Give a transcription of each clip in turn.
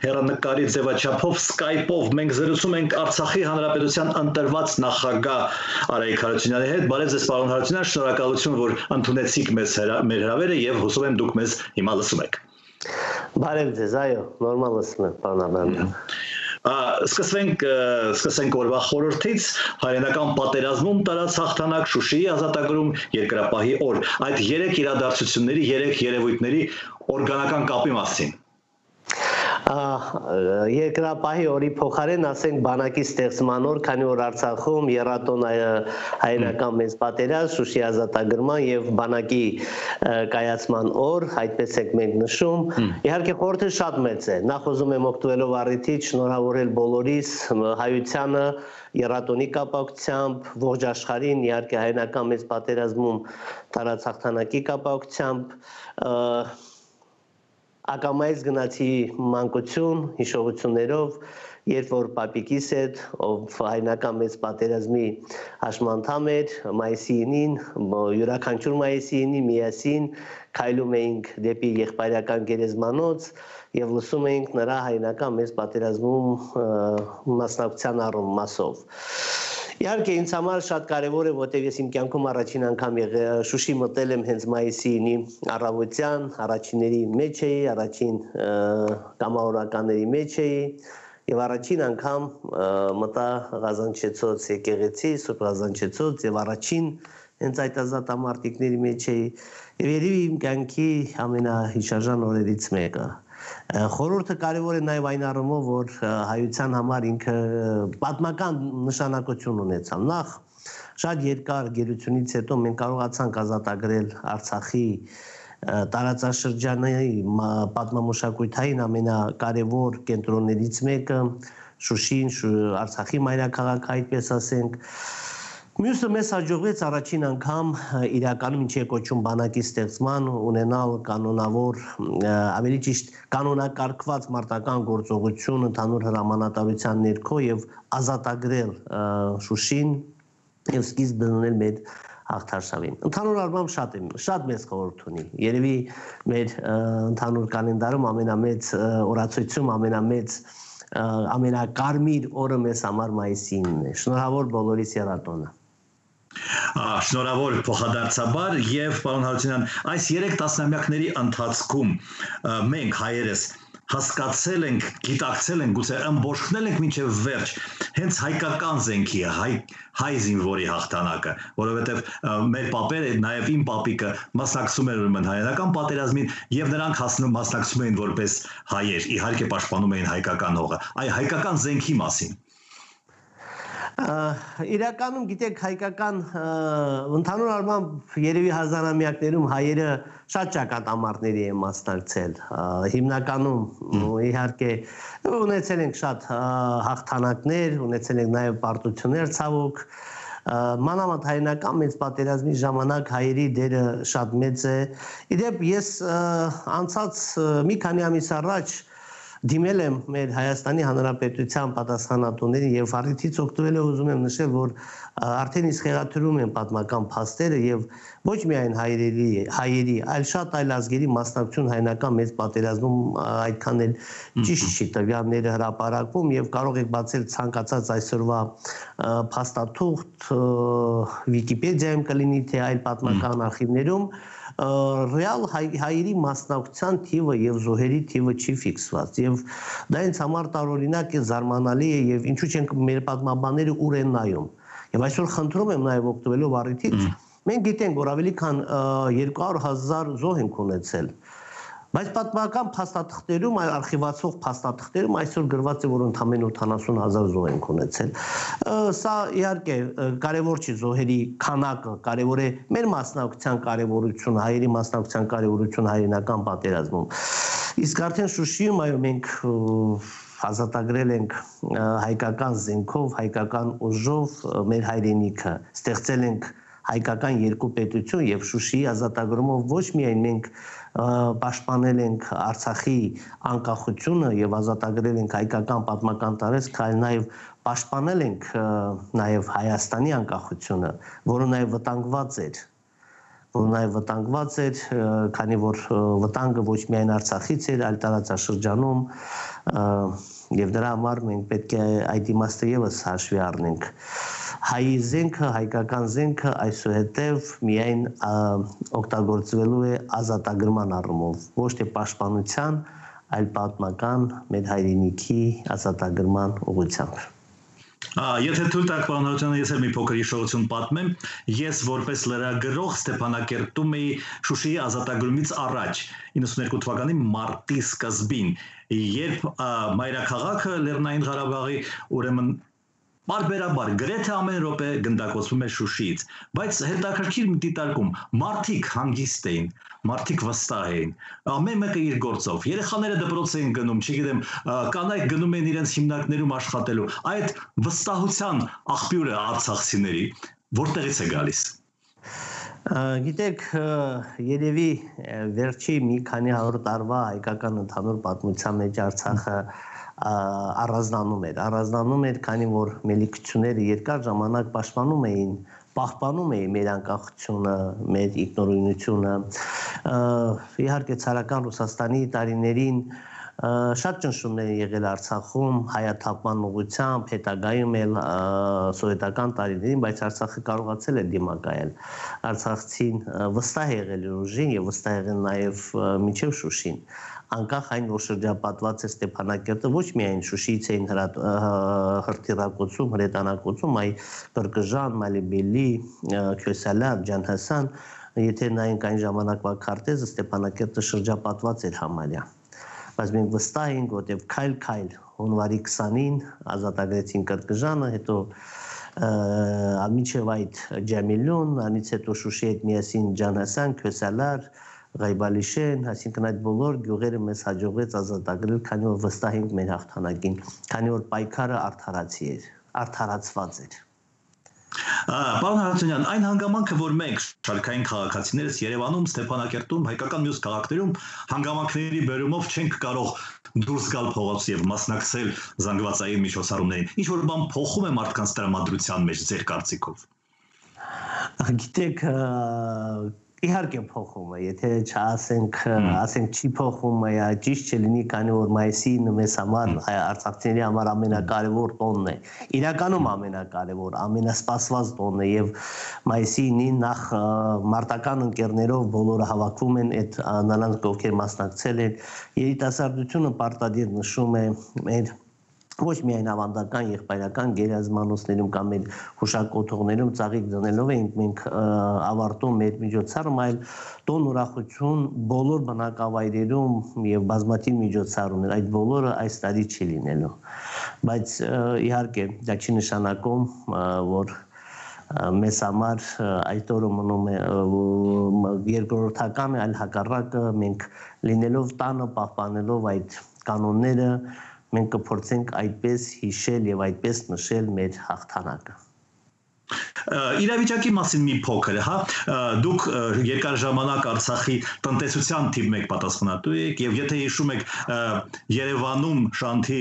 հեռանկարի ձևաչափով Skype-ով մենք զրուցում ենք Արցախի Հանրապետության ընտրված նախագահ Արայիկ Հարությունյանի հետ։ Բարև ձեզ, պարոն Հարությունյան, շնորհակալություն, որ ընդունեցիք մեր հրավերը եւ հուսով եմ դուք մեզ հիմա լսում եք։ Բարև ձեզ, այո, նորմալ լսում եմ, պարոն Աբրահամյան։ Սկսենք օրվա խորհրդից, հայրենական պատերազմում տարած հաղթանակ, Շուշիի ազատագրում, երկրապահի օր։ Այդ 3 իրադարձությունների, 3 երևույթների օրգանական կապի մասին։ Երկրապահի օրի փոխարեն ասենք բանակի ստեղծման օր, քանի որ Արցախում եռատոն հայրենական մեծ պատերազմ, Շուշիի ազատագրման եւ բանակի կայացման օր, այդպես ենք մենք նշում։ Իհարկե խորհուրդը շատ մեծ է։ Նախ ուզում եմ օգտվելով առիթից շնորհավորել բոլորիս հայությանը եռատոնի կապակցությամբ, ողջ աշխարհին, իհարկե հայրենական մեծ պատերազմում տարած հաղթանակի կապակցությամբ ակամայից գնացի մանկություն, հիշողություններով, երբ որ պապիկիս հետ, ով հայրենական մեծ պատերազմի հաշմանդամ էր, մայիսի 9-ին, յուրաքանչյուր մայիսի 9-ի միասին քայլում էինք դեպի եղբայրական գերեզմանոց եւ լսում էինք նրա հայրենական մեծ պատերազմում մասնակցության մասով։ Իհարկե ինձ համար շատ կարևոր է, որտեղ ես իմ կյանքում առաջին անգամ Շուշի մտել եմ հենց մայիսի 9-ի առավոտյան, առաջինների մեջ էի, առաջին կամավորականների մեջ էի եւ առաջին անգամ մտա Ղազանչեցոց եկեղեցի, Սուրբ Ղազանչեցոց եւ առաջին հենց այդ ազատամարտիկների մեջ էի եւ երևի իմ կյանքի ամենահիշարժան օրերից մեկը։ Խորհուրդը կարևոր է նաև այն առումով, որ հայության համար ինքը պատմական նշանակություն ունեցավ։ Նախ շատ երկար գերությունից հետո մենք կարողացանք ազատագրել Արցախի տարածաշրջանի պատմամշակութային ամենակարևոր կենտրոններից մեկը, Շուշին, Արցախի մայրաքաղաքը, այդպես ասենք։ Մյուսը մեզ հաջողվեց առաջին անգամ իրականում ինչի է կոչում բանակի ստեղծման ունենալ կանոնավոր, ավելի ճիշտ կանոնակարգված մարտական գործողություն ընդհանուր հրամանատարության ներքո եւ ազատագրել Շուշին եւ սկիզբ դնել մեր հաղթարշավին։ Ընդհանուր առմամբ շատ մեծ խորհուրդ ունի։ Երևի մեր ընդհանուր կալենդարում ամենամեծ օրացույցում ամենակարմիր օրը մեզ համար մայիսի 9-ն է։ Շնորհավոր բոլորիս եռատոնը։ Շնորհավոր փոխադարձաբար եւ պարոն Հարությունյան, այս 3 տասնամյակների ընթացքում մենք հայերս հասկացել ենք, գիտակցել ենք, գուցե ըմբոշխնել ենք մինչև վերջ հենց հայկական զենքի, հայ զինվորի հաղթանակը, որովհետև մեր պապերը, նաև իմ պապիկը մասնակցում էր ուրեմն հայերական պատերազմին եւ նրանք մասնակցում էին որպես հայեր, իհարկե պաշտպանում էին հայկական հողը, այ հայկական զենքի մասին։ Իրականում գիտեք հայկական ընդհանուր առմամբ երևի հազարամյակներում հայերը շատ ճակատամարտների են մասնակցել, հիմնականում իհարկե ունեցել ենք շատ հաղթանակներ, ունեցել ենք նաև պարտություններ ցավոք, մանավանդ հայրենական մեծ պատերազմի ժամանակ հայերի դերը շատ մեծ է։ Իդեպ ես անցած մի քանի ամիս առաջ դիմել եմ մեր Հայաստանի Հանրապետության պատասխանատուներին եւ առիթից օգտվելով ուզում եմ նշել, որ արդեն իսկ խեղաթյուրում են պատմական փաստերը եւ ոչ միայն հայերի, այլ շատ այլ ազգերի մասնակցություն հայրենական մեծ պատերազմում այդքան էլ ճիշտ չի տվյալները հրապարակվում եւ կարող եք բացել ցանկացած այսօրվա փաստաթուղթ Վիկիպեդիայում կլինի թե այլ պատմական արխիվներում ռեալ հայերի մասնակցության թիվը եւ զոհերի թիվը չի ֆիքսված եւ դա ինձ համար տարօրինակ է, զարմանալի է եւ ինչու՞ չենք մեր պատմաբանները ուր են նայում եւ այսօր խնդրում եմ նաեւ օգտվելով առիթից մենք գիտենք որ ավելի քան 200,000 զոհ ենք ունեցել բայց պատմական փաստաթղթերում արխիվացող փաստաթղթերում այսօր գրված է որ ընդամենը 80,000 զոհ ենք ունեցել սա իհարկե կարևոր չի զոհերի քանակը կարևոր է մեր մասնակցության կարևորությունը հայերի մասնակցության կարևորությունը հայրենական պատերազմում իսկ արդեն Շուշիում այո մենք ազատագրել ենք հայկական զենքով հայկական ուժով մեր հայրենիքը ստեղծել ենք հայկական երկու պետություն եւ Շուշիի ազատագրումով ոչ միայն մենք պաշտպանել ենք Արցախի անկախությունը եւ ազատագրել ենք հայկական պատմական տարածք, այլ նաեւ պաշտպանել ենք նաեւ Հայաստանի անկախությունը, որը նաեւ վտանգված էր որ նաև վտանգված էր, քանի որ վտանգը ոչ միայն Արցախից էր, այլ տարածաշրջանում եւ դրա համար մենք պետք է այդ իմաստը եւս հաշվի առնենք։ Հայի զենքը, հայկական զենքը այսուհետև միայն օգտագործվելու է ազատագրման առումով, ոչ թե պաշտպանության, այլ պատմական մեր հայրենիքի ազատագրման ուղղությամբ։ Եթե թույլ տաք, պարոն Հարությունյան, ես էլ մի փոքր հիշողություն պատմեմ, ես որպես լրագրող Ստեփանակերտում էի Շուշիի ազատագրումից առաջ 92 թվականի մարտի սկզբին, երբ մայրաքաղաքը Լեռնային Ղարաբաղի ուրեմն բարբերաբար գրեթե ամեն րոպե գնդակոծվում էր Շուշիից, բայց հետաքրքիր դիտարկում մարդիկ հանգիստ էին, մարդիկ վստահ էին, ամեն մեկը իր գործով, երեխաները դպրոց էին գնում, չգիտեմ, կանայք գնում են իրենց հիմնարկներում աշխատելու, այդ վստահության աղբյուրը արցախցիների որտեղից է գալիս։ Գիտեք, երևի վերջի մի քանի 100 տարվա հայկական ընդհանուր պատմության մեջ Արցախը առանձնանում էր, քանի որ մելիքությունները երկար ժամանակ պահպանում էին մեր անկախությունը, մեր ինքնուրույնությունը, իհարկե ցարական Ռուսաստանի տարիներին շատ ճնշումներ են եղել Արցախում հայաթափման ուղղությամբ, հետագայում էլ սովետական տարիներին, բայց Արցախը կարողացել է դիմակայել։ Արցախցին վստահ եղել իր ուժին եւ վստահ եղել նաեւ մինչեւ Շուշին։ Անկախ այն, որ շրջապատված է Ստեփանակերտը, ոչ միայն Շուշիից էին հրթիռակոծում, հրետանակոծում, այլ Կրկժան, Մալիբելի, Քյոսալար, Ջանհասան, եթե նայենք այն ժամանակվա քարտեզը, Ստեփանակերտը շրջապատված էր համարյա։ Բայց մենք վստահ ենք, որտեղ քայլ-քայլ հունվարի 20-ին ազատագրեցին Կրկժանը, հետո մինչև այդ Ջամիլուն, անից հետո Շուշի հետ միասին Ջանհասան, Քյոսալար, Ղայբալիշեն, այսինքն այդ բոլոր գյուղերը մեզ հաջողվեց ազատագրել, քանի որ վստահ ենք մեր հաղթանակին, քանի որ պայքարը արդարացված էր։ Պարոն Հարությունյան, այն հանգամանքը, որ մենք շարքային քաղաքացիներս Երևանում, Ստեփանակերտում, հայկական մյուս քաղաքներում հանգամանքների բերումով չենք կարող դուրս գալ փողոց եւ մասնակցել զանգվածային միջոցառումներին, ինչ որ բան փոխում է մարդկանց տրամադրության մեջ ձեր կարծիքով։ Գիտեք, իհարկե փոխում է, եթե չասենք չի փոխում, ճիշտ չլինի, քանի որ մայիսին մեզ համար արցախցիների համար ամենակարևոր տոնն է, իրականում ամենակարևոր, ամենասպասված տոնն է եւ մայիսի 9-ին նախ մարտական ընկերներով բոլորը հավաքվում են այդ նրանք ովքեր մասնակցել են, երիտասարդությունը պարտադիր նշում է մեր ոչ միայն ավանդական եղբայրական գերազմանոցներում կամ մեր հուշակոթողներում ծաղիկ դնելով ենք մենք ավարտում մեր միջոցառում, այլ տոն ուրախություն բոլոր բնակավայրերում եւ բազմաթիվ միջոցառումներ, այդ բոլորը այս տարի չի լինելու, բայց իհարկե դա չի նշանակում, որ մեզ համար այդ օրը մնում է երկրորդական, այլ հակառակը մենք լինելով տանը պահպանելով այդ կանոնները մենք կփորձենք այդպես հիշել եւ այդպես նշել մեր հաղթանակը։ Իրավիճակի մասին մի փոքր, հա, դուք երկար ժամանակ Արցախի տնտեսության թիվ 1 պատասխանատու եք եւ եթե հիշում եք Երևանում Շանթի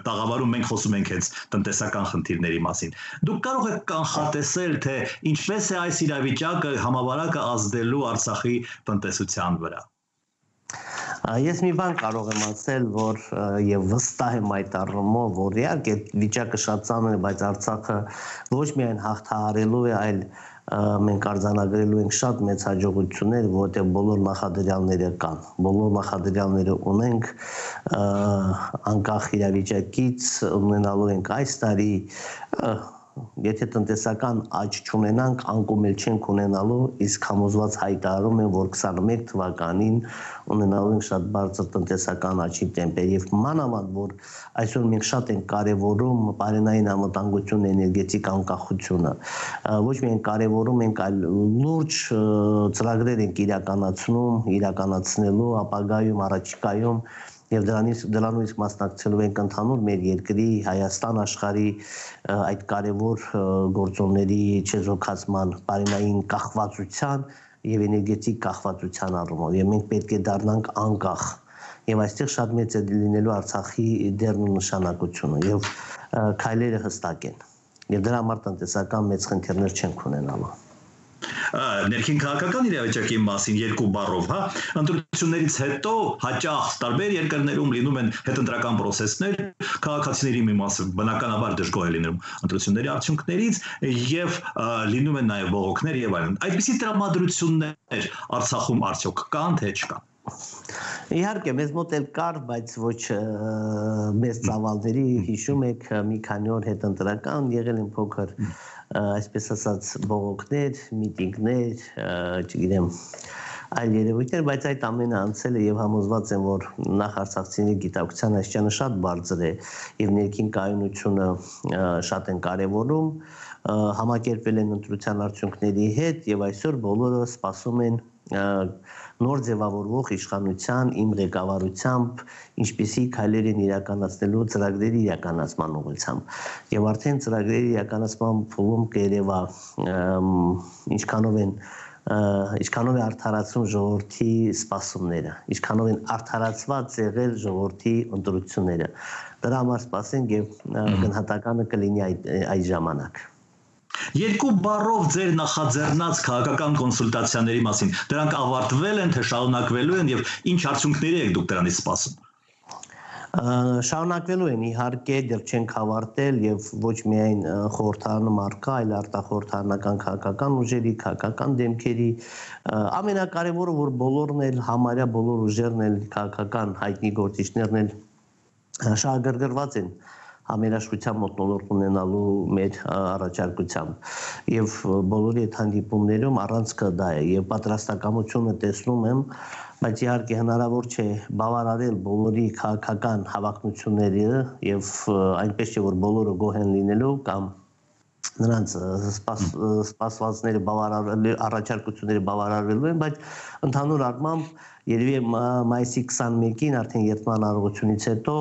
տաղավարում մենք խոսում ենք հենց տնտեսական խնդիրների մասին։ Դուք կարող եք կանխատեսել, թե ինչպես է այս իրավիճակը համավարակը ազդելու Արցախի տնտեսության վրա։ Ես մի բան կարող եմ ասել, որ եւ վստահ եմ այդ առումով, որ իհարկե վիճակը շատ ծանր է, բայց Արցախը ոչ միայն հաղթահարելու է, այլ մենք արձանագրելու ենք շատ մեծ հաջողություններ, որտեղ բոլոր նախադրյալները կան, բոլոր նախադրյալները ունենք, անկախ իրավիճակից ունենալու ենք այս տարի, եթե տնտեսական աճ չունենանք, անկում էլ չենք ունենալու, իսկ համոզված հայտարարում են, որ 21 թվականին ունենալու ենք շատ բարձր տնտեսական աճի տեմպեր եւ մանավանդ, որ այսօր մենք շատ ենք կարեւորում բարենային անվտանգություն, էներգետիկ անկախությունը, ոչ միայն կարեւորում ենք, այլ լուրջ ծրագրեր ենք իրականացնելու ապագայում, առաջիկայում եւ դրանից մասնակցելու ենք ընդհանուր մեր երկրի Հայաստան աշխարհի այդ կարևոր գործոնների չեզոքացման, բարենային կախվածության եւ էներգետիկ կախվածության առումով եւ մենք պետք է դառնանք անկախ եւ այստեղ շատ մեծ է լինելու Արցախի դերն ու նշանակությունը եւ քայլերը հստակ են եւ դրա համար տնտեսական մեծ խնդիրներ չենք ունենալու։ Ներքին քաղաքական իրավիճակի մասին երկու բառով, հա, ընտրություններից հետո հաճախ տարբեր երկրներում լինում են հետընտրական process-ներ, քաղաքացիների մի մասը բնականաբար դժգոհ է լինում ընտրությունների արդյունքներից եւ լինում են նաեւ բողոքներ եւ այլն։ Այդպիսի տրամադրություններ Արցախում արդյոք կան թե չկան։ Իհարկե մեզ մոտ էլ կար, բայց ոչ մեծ ծավալների, հիշում եք, մի քանի օր հետընտրական եղել են փոքր, այսպես ասած, բողոքներ, միտինգներ, չգիտեմ, այլ երևույթներ, բայց այդ ամենը անցել է եւ համոզված եմ, որ նախ արցախցիների գիտակցության աստիճանը շատ բարձր է եւ ներքին կայունությունը շատ են կարեւորում, համակերպվել են ընտրության արդյունքների հետ եւ այսօր բոլորը սպասում են նոր ձևավորվող իշխանության իմ ղեկավարությամբ ինչպիսի քայլեր են իրականացնելու ծրագրերի իրականացման ուղղությամբ եւ արդեն ծրագրերի իրականացման փուլում կերևա ինչքանով է արդարացում ժողովրդի սպասումները, ինչքանով են արդարացված եղել ժողովրդի ընտրությունները։ Դրա համար սպասենք եւ գնահատականը կլինի այդ ժամանակ։ Երկու բառով ձեր նախաձեռնած քաղաքական կոնսուլտացիաների մասին, դրանք ավարտվել են, թե շարունակվելու են եւ ինչ արդյունքների եք դուք դրանից սպասում։ Շարունակվելու են, իհարկե, դեռ չենք ավարտել եւ ոչ միայն խորհրդարանում առկա, այլ արտախորհրդարանական քաղաքական ուժերի, քաղաքական դեմքերի, ամենակարևորը, որ բոլորն էլ համարյա բոլոր ուժերն էլ քաղաքական հայտնի գործիչներն էլ շահագրգռված են համերաշխության մթնոլորտ ունենալու մեր առաջարկությամբ եւ բոլորի այդ հանդիպումներում առանցքը դա է եւ պատրաստակամությունը տեսնում եմ, բայց իհարկե հնարավոր չէ բավարարել բոլորի քաղաքական հավակնությունները եւ այնպես չէ որ բոլորը գոհ են լինելու կամ նրանց սպասվածները բավարարելու առաջարկությունները բավարարվելու են, բայց ընդհանուր առմամբ երևի մայիսի 21-ին արդեն երթման արարողությունից հետո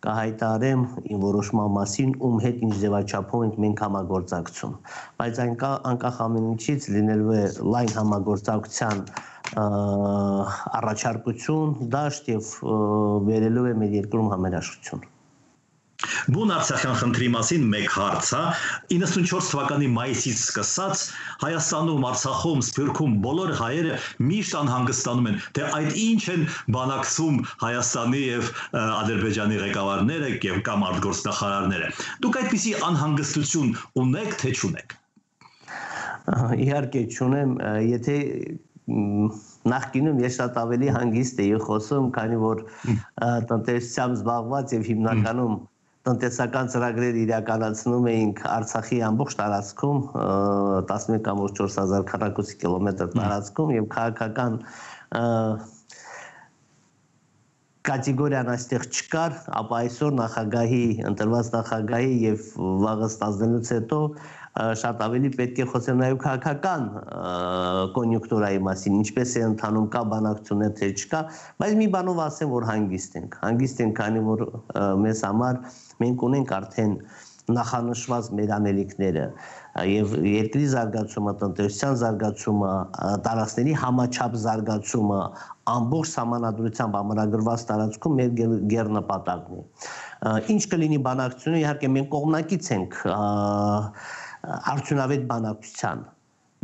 կհայտարարեմ իմ որոշման մասին, ում հետ ինչ ձևաչափով ենք մենք համագործակցում, բայց անկախ ամեն ինչից լինելու է լայն համագործակցության առաջարկություն, դաշտ եւ վերելու է մեր երկրում համերաշխություն։ Բուն Արցախյան խնդրի մասին մեկ հարց, հա, 94 թվականի մայիսից սկսած Հայաստանում, Արցախում, Սփյուռքում բոլոր հայերը միշտ անհանգստանում են, թե այդ ինչ են բանակցում Հայաստանի եւ Ադրբեջանի ղեկավարները եւ կամ արտգործնախարարները։ Դուք այդպիսի անհանգստություն ունեք, թե չունեք։ Իհարկե չունեմ, եթե նախկինում ես շատ ավելի հանգիստ էի խոսում, քանի որ տնտեսությամբ զբաղված եւ հիմնականում տնտեսական ծրագրեր իրականացնում էինք Արցախի ամբողջ տարածքում 11.4 քառակուսի կիլոմետր տարածքում եւ քաղաքական կատեգորիան այստեղ չկար, ապա այսօր նախագահի ընտրված նախագահի եւ վաղը ստանձնելուց հետո շատ ավելի պետք է խոսեմ նաեւ քաղաքական կոնյունկտուրայի մասին, ինչպես է ընթանում, կա բանակցություններ թե չկա, բայց մի բանով ասեմ, որ հանգիստ ենք, քանի որ մեզ համար մենք ունենք արդեն նախանշված մեր անելիքները եւ երկրի զարգացումը, տնտեսության զարգացումը, տարածքների համաչափ զարգացումը ամբողջ համանadrությամբ ամրագրված տարածքում մեր գերնպատակն է։ Ինչ կլինի բանակցությունը, իհարկե մենք կողմնակից ենք արդյունավետ բանակցության,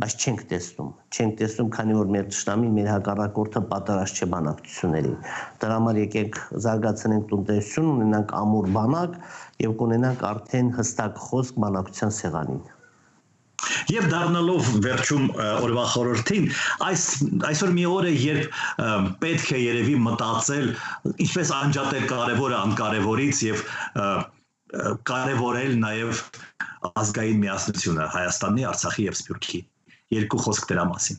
բայց չենք տեսնում, քանի որ մեր ճշտամին, մեր հակառակորդը պատրաստ չէ բանակցությունների։ Դրա համար եկեք զարգացնենք տնտեսություն, ունենանք ամուր բանակ եւ կունենանք արդեն հստակ խոսք բանակցության սեղանին։ Եվ դառնալով վերջում օրվա խորհրդին, այսօր մի օր է, երբ պետք է երևի մտածել, ինչպես անջատել կարևորը անկարևորից եւ կարևորել նաեւ ազգային միասնությունը Հայաստանի, Արցախի եւ Սփյուռքի։ Երկու խոսք դրա մասին։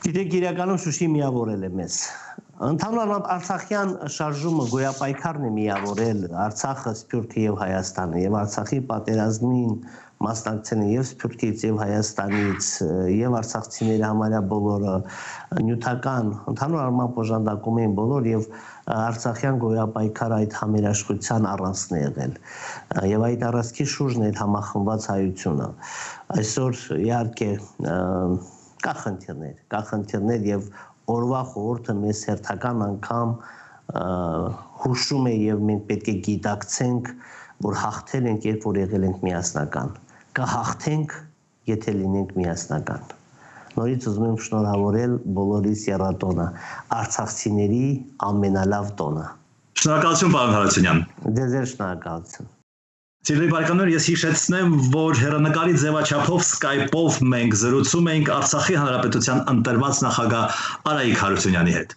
Գիտեք, իրականում Շուշի միավորել է մեզ։ Ընդհանուր Արցախյան շարժումը գոյապայքարն է միավորել Արցախը, Սփյուռքը եւ Հայաստանը եւ Արցախի պատերազմին մասնակցել են եւ Սփյուռքից եւ Հայաստանից եւ արցախցիների համարյա բոլորը նյութական ընդհանուր առմամբ օժանդակում էին բոլոր եւ Արցախյան գոյապայքարը այդ համերաշխության առանցքն է եղել եւ այդ առանցքի շուրջն է համախմբված հայությունը այսօր իհարկե կա խնդիրներ եւ օրվա խորհուրդը մեզ հերթական անգամ հուշում է եւ մենք պետք է գիտակցենք որ հաղթել ենք երբ որ եղել ենք միասնական կհաղթենք եթե լինենք միասնական նորից ուզում եմ շնորհավորել բոլորիս եռատոնը, արցախցիների ամենալավ տոնը։ Շնորհակալություն, պարոն Հարությունյան։ Ձեզ շնորհակալություն։ Սիրելի բարեկամներ, ես հիշեցնեմ, որ հեռանկարի ձևաչափով Skype-ով մենք զրուցում էինք Արցախի Հանրապետության ընտրված նախագահ Արայիկ Հարությունյանի հետ։